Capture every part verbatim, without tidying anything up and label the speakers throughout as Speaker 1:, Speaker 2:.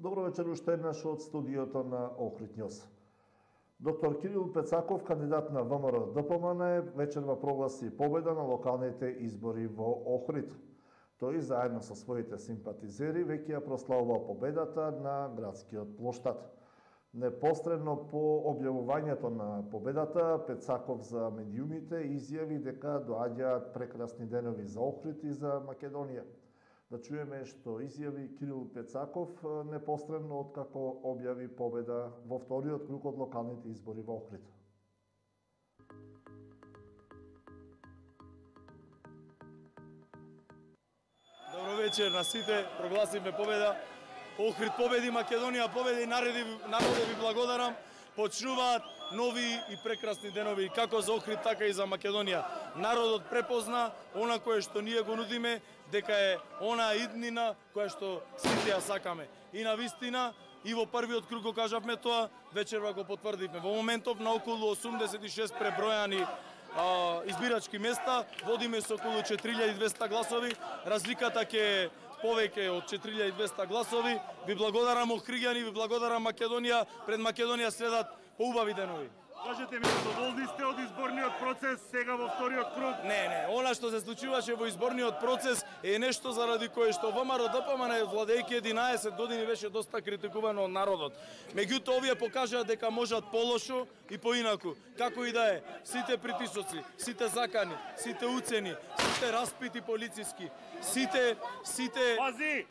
Speaker 1: Добро вечер уште еднаш од студиото на Охрид Њуз. Доктор Кирил Пецаков, кандидат на ВМРО-ДПМН, вечерва прогласи победа на локалните избори во Охрид. Тој заедно со своите симпатизери веќе ја прославува победата на градскиот плоштад. Непосредно по објавувањето на победата, Пецаков за медиумите изјави дека доаѓаат прекрасни денови за Охрид и за Македонија. Да чуеме што изјави Кирил Пецаков непосредно откако објави победа во вториот круг од локалните избори во Охрид.
Speaker 2: Добро вечер на сите, прогласивме победа. Охрид победи, Македонија победи, народи, народе ви благодарам. Почнуваат нови и прекрасни денови како за Охрид, така и за Македонија. Народот препозна она кое што ние го нудиме, дека е она иднина која што сите ја сакаме. И на вистина, и во првиот круг го кажавме тоа, вечерва го потврдивме. Во моментов на околу осумдесет и шест пребројани а, избирачки места, водиме со околу четири илјади и двесте гласови, разликата ќе е повеќе од четири илјади и двесте гласови. Ви благодарам Охриѓани, ви благодарам Македонија, пред Македонија следат поубави денови.
Speaker 3: Кажете ми, задоволни сте од изборниот процес сега во вториот круг?
Speaker 2: Не, не, она што се случуваше во изборниот процес е нешто заради кое што ВМРО-ДПМН владејќи единаесет години беше доста критикувано од народот. Меѓутоа овие покажаа дека можат полошо и поинаку. Како и да е, сите притисоци, сите закани, сите уцени, сите распити полициски, сите сите
Speaker 3: Пази!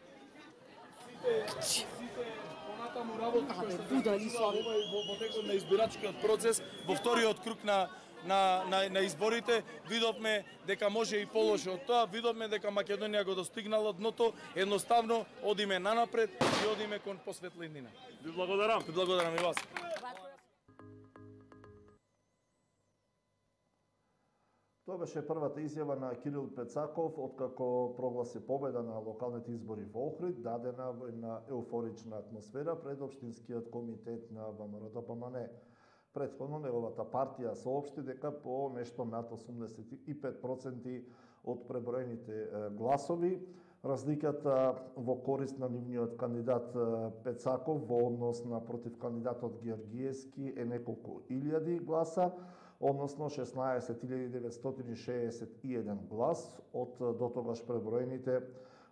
Speaker 2: Сите сите понатаму работи кои што се во во текот на избирачкиот процес, во вториот круг на на на на изборите, видовме дека може и полошо од тоа, видовме дека Македонија го достигнала дното, едноставно одиме нанапред и одиме кон посветлинина.
Speaker 3: Ви благодарам.
Speaker 2: Ви благодарам и вас.
Speaker 1: Тоа беше првата изјава на Кирил Пецаков откако прогласи победа на локалните избори во Охрид, дадена во една еуфорична атмосфера пред Општинскиот комитет на ВМРО-ДПМН. Претходно неговата партија соопшти дека по нешто над осумдесет и пет проценти од преброените гласови, разликата во корист на нивниот кандидат Пецаков во однос на против кандидатот Георгиевски е неколку илјади гласа, односно шеснаесет илјади деветстотини шеесет и еден глас од дотогаш преброените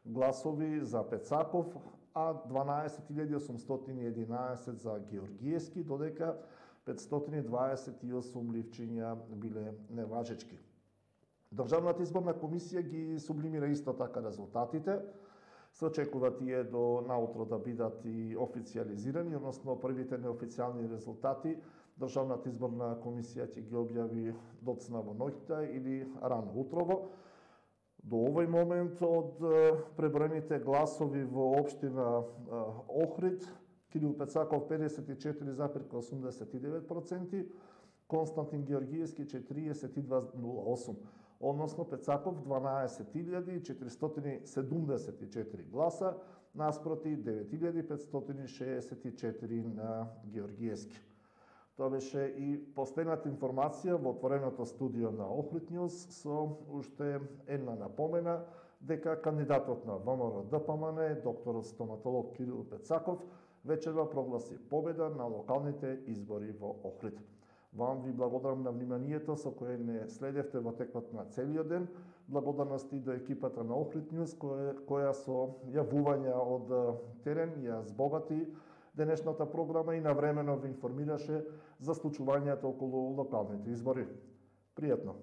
Speaker 1: гласови за Пецаков, а дванаесет илјади осумстотини и единаесет за Георгиевски, додека петстотини дваесет и осум ливчиња биле неважечки. Државната изборна комисија ги сублимира исто така резултатите. Се очекува тие до наутро да бидат и официализирани, односно првите неофицијални резултати Државната изборна комисија ќе ги објави доцна во ноќта или рано утрово. До овој момент од преброените гласови во општина Охрид, Кирил Пецаков педесет и четири запирка осумдесет и девет проценти, Константин Георгиевски четириесет и два запирка нула осум, односно Пецаков дванаесет илјади четиристотини седумдесет и четири гласа, наспроти девет илјади петстотини шеесет и четири на Георгиевски. Тоа беше и последната информација во отвореното студио на Охрид Њуз со уште една напомена дека кандидатот на ВМРО-ДПМН, докторот стоматолог Кирил Пецаков, вечерва прогласи победа на локалните избори во Охрид. Вам ви благодарам на вниманието со кое не следевте во текот на целиот ден. Благодарности до екипата на Охрид Њуз која, која со јавувања од терен ја збогати денешната програма и навремено ви информираше за случувањето околу локалните избори. Пријатно!